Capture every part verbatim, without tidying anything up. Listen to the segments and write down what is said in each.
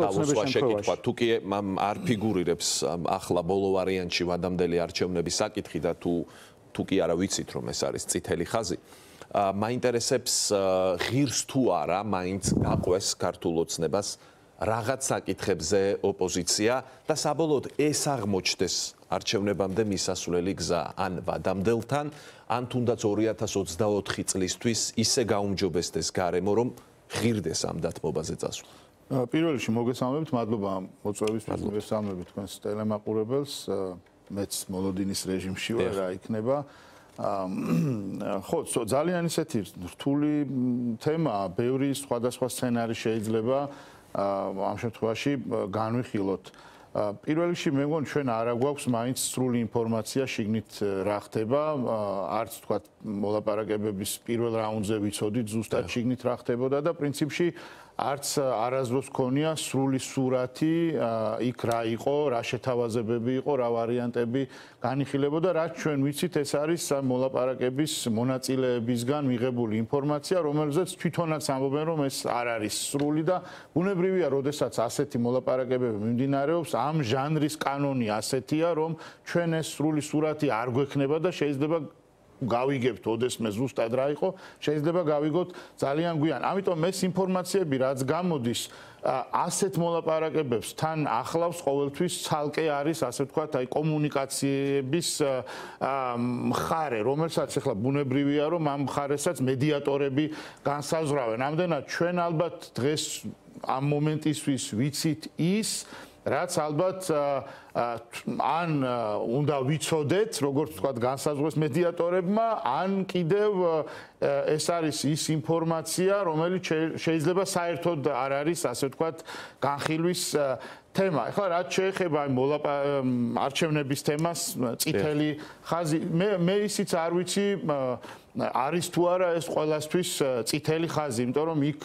დავუსვა შეკითხვა, თუ კი არ ფიგურირებს ახლა ბოლო ვარიანტში ვადამდელი არჩევნების საკითხი და თუ თუ კი არა ვიცით რომ ეს არის წითელი ხაზი, მაინტერესებს ღირს თუ არა მაინც გაყვეს ქართულ ოცნებას რაღაც საკითხებზე ოპოზიცია და საბოლოოდ ეს აღმოჩნდეს არჩევნებამდე მისასვლელი გზა ან ვადამდელთან, ან თუნდაც ორი ათას ოცდაოთხი წლისთვის ისე გაუმჯობესდეს გარემო, რომ ღირდეს ამ დათმობაზე წასვლა. პირველ რიგში მოგესალმებით, მადლობა მოწვევისთვის, მოგესალმებით თქვენს ტელემაყურებელს. მეც მოლოდინის რეჟიმში ვარ, რა იქნება. ხო, ძალიან ისეთი რთული თემაა, ბევრი სხვადასხვა სცენარი შეიძლება ამ შემთხვევაში განვიხილოთ. პირველ რიგში მე მგონი ჩვენ არა გვაქვს მაინც სრული ინფორმაცია შიგნით რა ხდება, არც თქვა მოლაპარაკებების პირველ რაუნდზე ვიცოდით ზუსტად შიგნით რა ხდებოდა და პრინციპში არც არასდროს ქონია სრული სურათი იქ რა იყო, რა შეთავაზებები იყო, რა ვარიანტები განიხილებოდა, რაც ჩვენ ვიცით, ეს არის მოლაპარაკების მონაწილეებისგან მიღებული ინფორმაცია, რომელზეც თვითონაც ამბობენ, რომ ეს არ არის სრული და ბუნებრივია, როდესაც ასეთი მოლაპარაკებები მიმდინარეობს, ამ ჟანრის კანონი ასეთია, რომ ჩვენ ეს სრული სურათი არ გვექნება და შეიძლება გავიგებთ ოდესმე ზუსტად რა იყო, შეიძლება გავიგოთ ძალიან გვიან. ამიტომ ეს ინფორმაციები რაც გამოდის ასეთ მოლაპარაკებებს თან ახლავს ყოველთვის ცალკე არის ასე ვთქვათ, აი კომუნიკაციების მხარე, რომელსაც ახლა ბუნებრივია, რომ ამ მხარესაც მედიატორები განსაზღვრავენ. ამდენად ჩვენ ალბათ დღეს ამ მომენტისთვის ვიცით ის რაც ალბათ ან უნდა ვიცოდეთ, როგორც ვთქვათ, განსაზღვრეს მედიატორებმა, ან კიდევ ეს არის ის ინფორმაცია, რომელიც შეიძლება საერთოდ არ არის, ასე ვთქვათ, განხილვის თემა. ახლა რაც შეეხება არჩევნების თემას, წითელი ხაზი, მე მე ისიც არ ვიცი არის თუ არა ეს ყველასთვის წითელი ხაზი, იმიტომ რომ იქ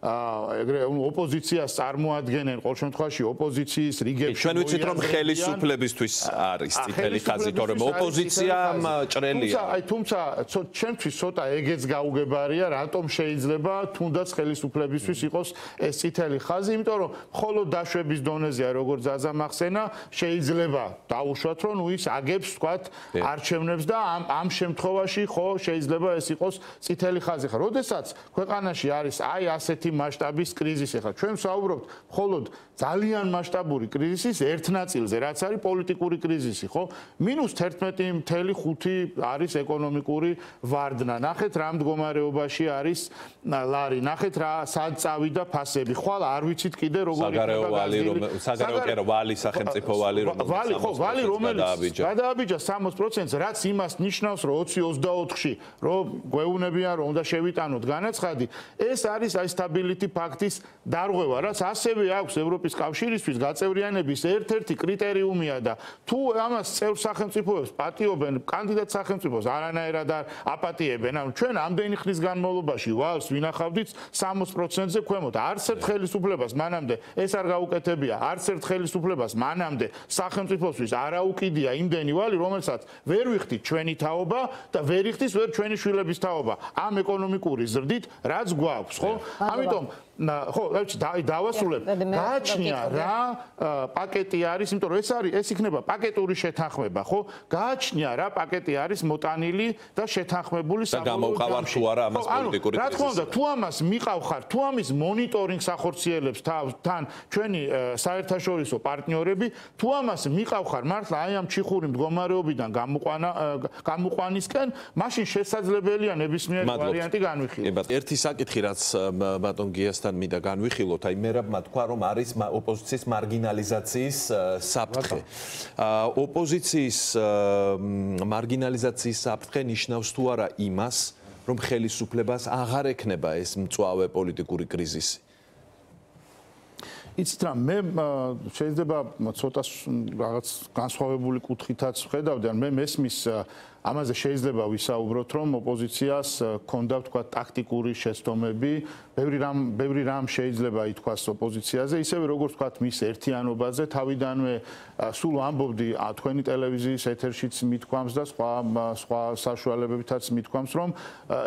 ეგრე ოპოზიციას წარმოადგენენ ყოველ შემთხვევაში ოპოზიციის რიგებში. ჩვენ ვიცით რომ ხელისუფლებისთვის არის წითელი ხაზი, თორემ ოპოზიციამ ჭრელია. აი თუმცა ჩვენთვის ცოტა ეგეც გაუგებარია, რატომ შეიძლება თუნდაც ხელისუფლებისთვის იყოს ეს წითელი ხაზი, იმიტომ რომ მხოლოდ დაშვების დონეზეა, როგორც ზაზამახსენა, შეიძლება დაუშვათ, რომ ნუ ის აგებს, ვთქვათ, არჩევნებს და ამ ამ შემთხვევაში ხო შეიძლება ეს იყოს წითელი ხაზი. ხა, როდესაც ქვეყანაში არის აი ასეთი მასშტაბის კრიზისი, ხა ჩვენ ვსაუბრობთ მხოლოდ ძალიან მასშტაბური კრიზისის ერთ ნაწილზე, რაც არის პოლიტიკური კრიზისი, ხო? მინუს თერთმეტი წუთი ხუთი არის ეკონომიკური ვარდნა. ნახეთ რა მდგომარეობაში არის ლარი, ნახეთ რა სად წავიდა ფასები. ხვალ არ ვიცით კიდე როგორ იქნება გაზრდილი. საგარეო ვალი სახელმწიფო ვალი რომელიც ვალი ხო, ვალი რომელიც გადააბიჯა სამოცდ პროცენტს, რაც იმას ნიშნავს, რომ ოცი ოცდაოთხში რომ გვეუბნებიან რომ უნდა შევიტანოთ განაცხადი, ეს არის აი სტაბილიტი ფაქტის დარღვევა, რაც ასევე აქვს ევროპის კავშირისთვის გაწევრიანების ერთ-ერთი კრიტერიუმია და თუ ამას წევრ სახელმწიფოებს პატიობენ კანდიდატ სახელმწიფოს არანაირად აპატიებენ, ანუ ჩვენ ამდენი ხნის განმავლობაში ვალს ვინახავდით სამოცდ პროცენტზე ქვემოთ. არც ერთ ხელისუფლებას მანამდე ეს არ გაუკეთებია, არც ერთ ხელისუფლებას მანამდე სახელმწიფოსთვის არ აუკიდია იმდენი ვალი, რომელსაც ვერ ვიხდით ჩვენი თაობა და ვერ იხდის ვერ ჩვენი შვილების თაობა ამ ეკონომიკური ზრდით, რაც გვაქვს, ხო? ამიტომ ხო, დავასრულებ. გააჩნია რა პაკეტი არის, იმიტომ რომ ეს არის, ეს იქნება პაკეტური შეთანხმება, ხო? გააჩნია რა პაკეტი არის მოტანილი და შეთანხმებული და გამოვყავარ თუ არა ამას პოლიტიკური კრიზისი. რა თქმა უნდა, თუ ამას მიყავხარ, თუ ამის მონიტორინგს ახორციელებს თან ჩვენი საერთაშორისო პარტნიორები, თუ ამას მიყავხარ მართლა აი ამ ჩიხური მდგომარეობიდან გამოყვანა გამოყვანისკენ, მაშინ შესაძლებელია ნებისმიერი ვარიანტი განვიხილოთ. ერთი საკითხი რაც ბატონ გიასთან მინდა განვიხილოთ, აი მერაბმა თქვა რომ არის ოპოზიციის მარგინალიზაციის საფრთხე. ოპოზიციის მარგინალიზაციის საფრთხე ნიშნავს თუ არა იმას, რომ ხელისუფლებას აღარ ექნება ეს მწვავე პოლიტიკური კრიზისი. იცით რა, მე შეიძლება ცოტა რაღაც განსხვავებული კუთხითაც ვხედავდი, ან მე მესმის ამაზე შეიძლება ვისაუბროთ, რომ ოპოზიციას ჰქონდა თქვა ტაქტიკური შეცდომები, ბევრი რამ ბევრი რამ შეიძლება ითქვას ოპოზიციაზე, ისევე როგორც თქვა მის ერთიანობაზე, თავიდანვე სულ ამბობდი თქვენი ტელევიზიის ეთერშიც მithქვამს და სხვა სხვა საშუალებებითაც მithქვამს, რომ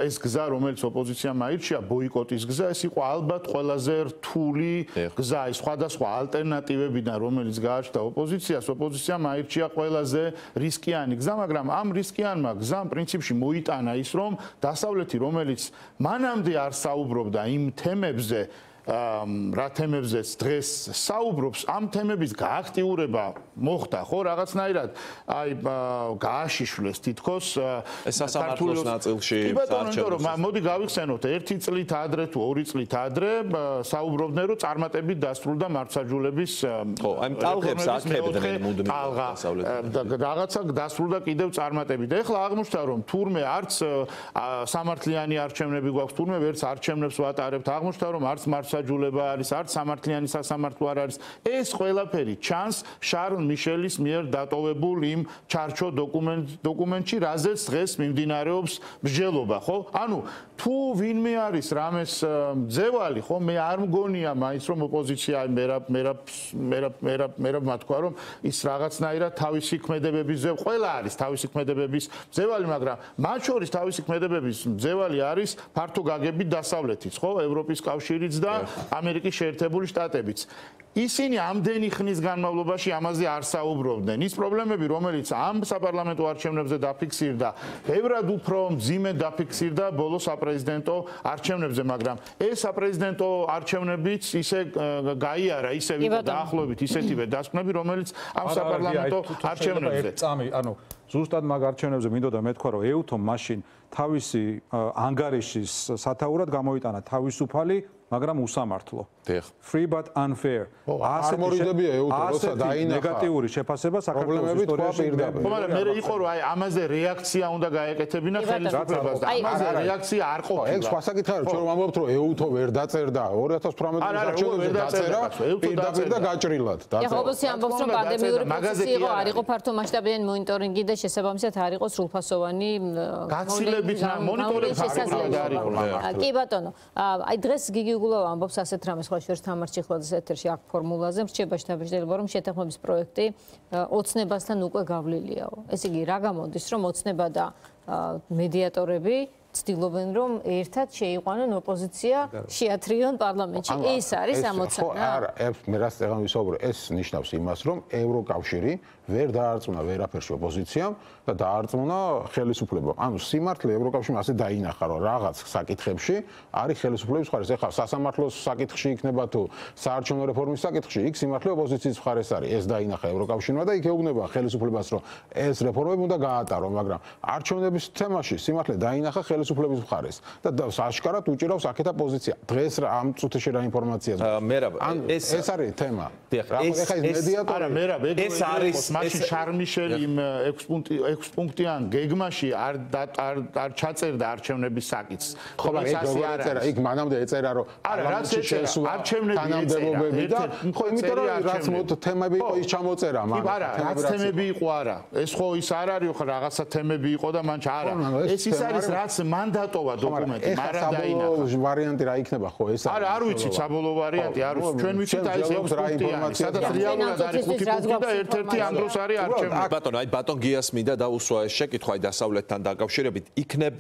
ეს გზა, რომელიც ოპოზიციამ აირჩია, ბოიკოტის გზა, ეს იყო ალბათ ყველაზე რთული გზა, ის სხვადასხვა ალტერნატივებიდან, რომელიც გააჩნდა ოპოზიციას, ოპოზიციამ აირჩია ყველაზე რისკიანი გზა, მაგრამ ამ რისკიანმა გზამ პრინციპში მოიტანა ის, რომ დასავლეთი, რომელიც მანამდე არ საუბრობდა იმ თემებზე, რა თემებზეც დღეს საუბრობს, ამ თემების გააქტიურება მოხდა, ხო, რაღაცნაირად აი გააშიშვლეს თითქოს ეს სასამართლოს ნაწილში. კი ბატონო, იმიტომ რომ მოდი გავიხსენოთ, ერთი წლით ადრე თუ ორი წლით ადრე საუბრობდნენ, რომ წარმატებით დასრულდა მართლმსაჯულების ხო, აი ტალღებს აკეთებდნენ მუდმივ დასავლეთში. რაღაცა დასრულდა კიდევ წარმატებით. ეხლა აღმოჩნდა, რომ თურმე არც სამართლიანი არჩევნები გვაქვს, თურმე ვერც არჩევნებს ვატარებთ, აღმოჩნდა, რომ არც მართლმსაჯულება არის, არც სამართლიანი სასამართლო არ არის. ეს ყველაფერი ჩანს შარლ მიშელის მიერ დატოვებულ იმ ჩარჩო დოკუმენტში, რაზეც დღეს მიმდინარეობს მსჯელობა, ხო? ანუ თუ ვინმე არის რამეს მძევალი, ხო, მე არ მგონია მაინც რომ ოპოზიცია მერაბ მერაბ მერაბ მერაბ მერაბ მათქვა რომ ის რაღაცნაირად თავისი ქმედებების ზე ყველა არის თავისი ქმედებების მძევალი, მაგრამ მათ შორის თავისი ქმედებების მძევალი არის ფართო გაგებით დასავლეთიც, ხო, ევროპის კავშირიც და ამერიკის შეერთებული შტატებიც. ისინი ამდენი ხნის განმავლობაში ამაზე არ საუბრობდნენ. ის პრობლემები, რომელიც ამ საპარლამენტო არჩევნებზე დაფიქსირდა, ბევრად უფრო მძიმე დაფიქსირდა ბოლო საპრეზიდენტო არჩევნებზე, მაგრამ ეს საპრეზიდენტო არჩევნებიც ისე გაიარა, ისე იყო დაახლოებით ისეთივე დასკვნები, რომელიც ამ საპარლამენტო არჩევნებზე. ანუ ზუსტად მაგ არჩევნებზე მინდოდა მეთქვა, რომ ეუთომ მაშინ თავისი ანგარიშის სათაურად გამოიტანა თავისუფალი, მაგრამ უსამართლო. Free but unfair. ასმორიდებია ეუთო, როცა დაინახა ნეგატიური შეფასება საქართველოს ისტორიაში. მაგრამ მე იყო რომ აი ამაზე რეაქცია უნდა გაეკეთებინა ხელისუფლებას და ამაზე რეაქცია არ ყოფილა. ეგ სხვა საკითხია, რომ ჩვენ ვამბობთ, რომ ეუთო ვერ დაწერდა ორი ათას თვრამეტი წლის არჩევნებზე დაწერა პირდაპირ და გაჭრილად. ეხლა ოპოზიცია ამბობს, რომ პანდემიური პროცესი იყო, არ იყო ფართო მასშტაბიანი მონიტორინგი და შესაბამისად არ იყო სრულფასოვანი გაცილებით მონიტორინგი არ იყო. კი ბატონო, აი დღეს გიგი უგულავა ამბობს ასეთ რამეს, სხვა შორის თამარ ჩიხლაძის ეთერში აქ ფორმულაზე რჩება შთაბეჭდილება, რომ შეთანხმების პროექტი ოცნებასთან უკვე გავლილიაო. ესე იგი, რა გამოდის, რომ ოცნება და მედიატორები ცდილობენ, რომ ერთად შეიყვანონ ოპოზიცია, შეათრიონ პარლამენტში. ეს არის ამოცანა. არა, მე რას წეგან ვისაუბრო, ეს ნიშნავს იმას, რომ ევროკავშირი ვერ დაარწმუნა ვერაფერში ოპოზიციამ და დაარწმუნა ხელისუფლებამ. ანუ სიმართლე ევროკავშირმა ასე დაინახა, რომ რაღაც საკითხებში არის ხელისუფლების მხარეს. ეხლა სასამართლოს საკითხში იქნება თუ საარჩევნო რეფორმის საკითხში, იქ სიმართლე ოპოზიციის მხარეს არის. ეს დაინახა ევროკავშირმა და იქ ეუბნება ხელისუფლებას, რომ ეს რეფორმები უნდა გაატარონ, მაგრამ არჩევნების თემაში სიმართლე დაინახა ხელისუფლების მხარეს და აშკარად უჭირავს აქეთა პოზიცია. დღეს რა ამ წუთში რა ინფორმაციაა? მერაბ, ეს ეს არის თემა. ეხლა ეს მედიატორი, არა, მერაბ, ეს არის მაშინ შარმიშელი იმ ექვს პუნქტიან გეგმაში არ არ ჩაწერდა არჩევნების საკითხს. ხო, მაგრამ ეგ როგორ ეწერა? იქ მანამდე ეწერა, რომ არა, რაც ეწერა, არჩევნები თანამდებობები და ხო, იმიტომ რომ რაც მოდ თემები იყო ის ჩამოწერა მან. არა, რაც თემები იყო არა. ეს ხო ის არ არის ხო რაღაცა თემები იყო და მან არა. ეს ის არის რაც მან დატოვა დოკუმენტი, მაგრამ საბოლოო ვარიანტი რა იქნება ხო ეს არა, არ ვიცით საბოლოო ვარიანტი, არ ვიცით. ჩვენ ვიცით აი ეს ექვს პუნქტიანი, სადაც რეალურად არის ხუთი პუნქტი და ერთ-ერთი ამ დროს არის არჩევნები. ბატონო, აი ბატონ გიას მინდა დაუსვა ეს შეკითხვა აი დასავლეთთან დაკავშირებით. იქნებ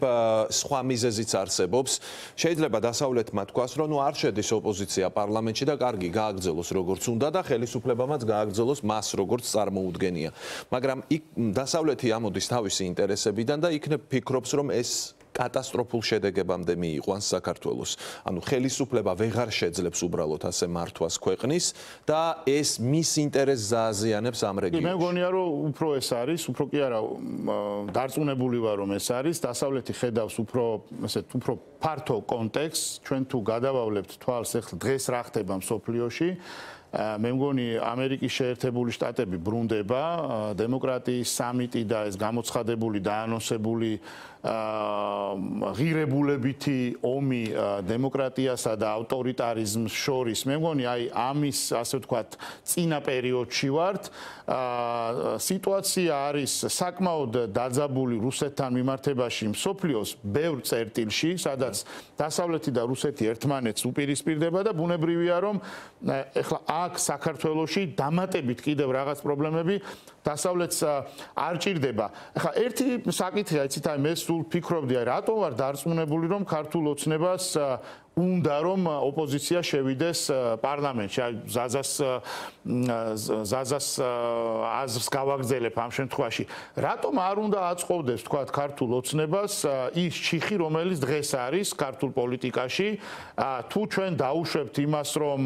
სხვა მიზეზიც არსებობს. შეიძლება დასავლეთმა თქვას, რომ ნუ არ შედის ოპოზიცია პარლამენტში და კარგი გააგრძელოს როგორც უნდა და ხელისუფლებამაც გააგრძელოს მას როგორც წარმოუდგენია. მაგრამ იქ დასავლეთი ამოდის თავისი ინტერესებიდან და იქნებ ფიქრობს, რომ ეს კატასტროფულ შედეგებამდე მიიყვანს საქართველოს. ანუ ხელისუფლება ვეღარ შეძლებს უბრალოდ ასე მართვას ქვეყნის და ეს მის ინტერესს ზააზიანებს ამ რეგიონში. მე მგონია, რომ უფრო ეს არის, უფრო კი არა, დარწმუნებული ვარ, რომ ეს არის, დასავლეთი ხედავს უფრო, ესეთ, უფრო ფართო კონტექსტს, ჩვენ თუ გადავავლებთ თვალს ახლა დღეს რა ხდება მსოფლიოში, მე მგონი ამერიკის შეერთებული შტატები ბრუნდება, დემოკრატიის სამიტი და ეს გამოცხადებული და ანონსებული ღირებულებითი ომი დემოკრატიასა და ავტორიტარიზმს შორის, მე მგონი აი ამის ასე ვთქვათ წინა პერიოდში ვართ. სიტუაცია არის საკმაოდ დაძაბული რუსეთთან მიმართებაში მსოფლიოს ბევრ წერტილში, სადაც დასავლეთი და რუსეთი ერთმანეთს უპირისპირდება და ბუნებრივია რომ ეხლა აქ საქართველოში დამატებით კიდევ რაღაც პრობლემები დასავლეთს არ ჭირდება. ეხლა ერთი საკითხია, იცით, აი მე სულ ფიქრობდი, აი რატომ ვარ დარწმუნებული რომ ქართულ ოცნებას უნდა რომ ოპოზიცია შევიდეს პარლამენტში. აი ზაზას ზაზას აზრს გავაგრძელებ ამ შემთხვევაში. რატომ არ უნდა აწყობდეს თქვა ქართულ ოცნებას ის ჩიხი, რომელიც დღეს არის ქართულ პოლიტიკაში, თუ ჩვენ დაუშვებთ იმას, რომ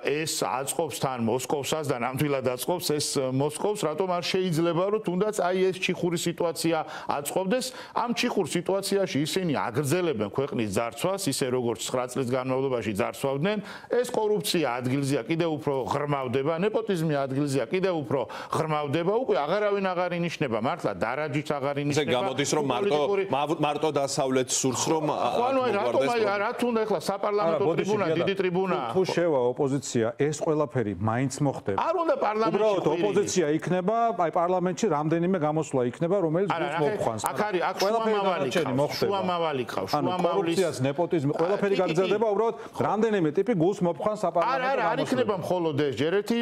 ეს აწყობს თან მოსკოვსაც და ნამდვილად აწყობს ეს მოსკოვს, რატომ არ შეიძლება რომ თუნდაც აი ეს ჩიხური სიტუაცია აწყობდეს? ამ ჩიხურ სიტუაციაში ისინი აგრძელებენ ქვეყნის ძარცვას, ისე როგორც ცხრა წლის განმავლობაში ძარცვავდნენ, ეს კორუფცია ადგილზეა კიდევ უფრო ღრმავდება, ნეპოტიზმი ადგილზეა კიდევ უფრო ღრმავდება, უკვე აღარავინ აღარ ინიშნება, მართლა დარაჯიც აღარ ინიშნება. ესე გამოდის რომ მარტო მარტო დასავლეთს სურს რომ ანუ რატომ აი რა თუნდა ახლა საპარლამენტო ტრიბუნა, დიდი ტრიბუნა. თუ შევა ოპოზიცია, ეს ყველაფერი მაინც მოხდება. არ უნდა პარლამენტში უბრალოდ ოპოზიცია იქნება, აი პარლამენტში რამდენიმე გამოსვლა იქნება, რომელიც გულს მოხანს. აქ არის აქ შუამავალი ყავს, შუამავალი ყავს, შუამავლის კორუფციას, ნეპოტიზმი, ყველაფერი გაგრძელდება, უბრალოდ რამდენიმე ტიპი გულს მოხანს საპარლამენტო. არა, არ იქნება მხოლოდ ეს, ჯერეთი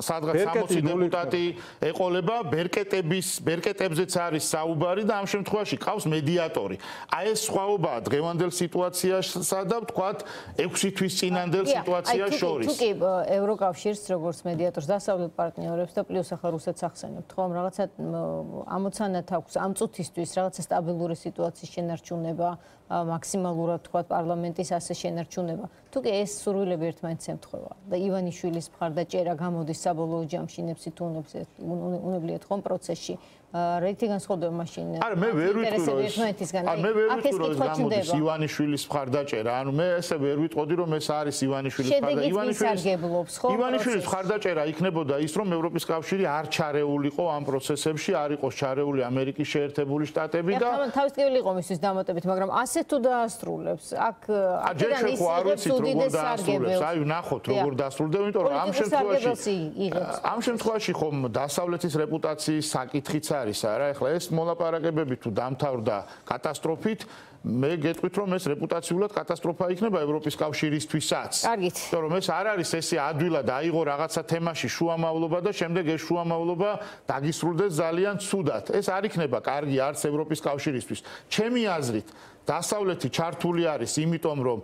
სადღაც სამოცი დეპუტატი ეყოლება, ბერკეტების, ბერკეტებზეც არის საუბარი და ამ შემთხვევაში ყავს მედიატორი. აი ეს სხვაობაა დღევანდელ სიტუაციასა და ვთქვათ ექვსი თვის წინანდელ სიტუაციას შორის. თუ კი ევროკავშირს როგორც მედიატორს დასავლეთ პარტნიორებს და პლუს ახლა რუსეთს ახსენებთ, ხომ რაღაცა ამოცანათ აქვს ამ წუთისთვის რაღაცა სტაბილური სიტუაციის შენარჩუნება, მაქსიმალურად თქვათ პარლამენტის ასე შენარჩუნება. თუ კი ეს სურვილები ერთმანეთს ემთხვევა და ივანიშვილის მხარდაჭერა გამოდის საბოლოო ჯამში ნებსი თუ უნებლიეთ ხომ პროცესში რეიტინგი განსხვავდება მაშინ. არა, მე ვერ ვიტყვი რომ არა, მე ვერ ვიტყვი რომ გამოდის ივანიშვილის მხარდაჭერა. ანუ მე ესე ვერ ვიტყოდი რომ ეს არის ივანიშვილის მხარდაჭერა. ივანიშვილის ივანიშვილის მხარდაჭერა იქნებოდა ის რომ ევროპის კავშირი არ ჩარეულიყო ამ პროცესებში, არ იყოს ჩარეული ამერიკის შეერთებული შტატები და თავის ტკივილი იყო მისთვის დამატებით, მაგრამ ასე თუ დაასრულებს, აქ აქედან ის არ ვიცით როგორ დაასრულებს. აი ნახოთ როგორ დაასრულდება, იმიტომ რომ ამ შემთხვევაში ამ შემთხვევაში ხომ დასავლეთის რეპუტაციის საკითხიც არის არა, ეხლა ეს მოლაპარაკებები თუ დამთავრდა კატასტროფით, მე გეტყვით რომ ეს რეპუტაციულად კატასტროფა იქნება ევროპის კავშირისთვისაც. კარგით. იმიტომ რომ ეს არ არის ესე ადვილად აიღო რაღაცა თემაში შუამავლობა და შემდეგ ეს შუამავლობა დაგისრულდეს ძალიან ცუდად. ეს არ იქნება კარგი არც ევროპის კავშირისთვის. ჩემი აზრით დასავლეთი ჩართული არის იმიტომ რომ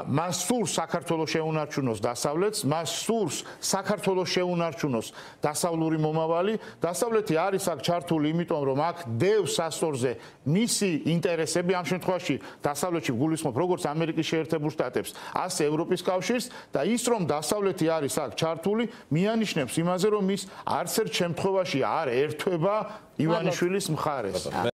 მას სურს საქართველოს შეუნარჩუნოს დასავლეთს, მას სურს საქართველოს შეუნარჩუნოს დასავლური მომავალი. დასავლეთი არის აქ ჩართული იმიტომ რომ აქ დევს სასწორზე მისი ინტერესები, ამ შემთხვევაში დასავლეთში გულისხმობ როგორც ამერიკის შეერთებულ შტატებს, ასე ევროპის კავშირს და ის რომ დასავლეთი არის აქ ჩართული, მიანიშნებს იმაზე რომ ის არც ერთ შემთხვევაში არ ერთვება ივანიშვილის მხარეს.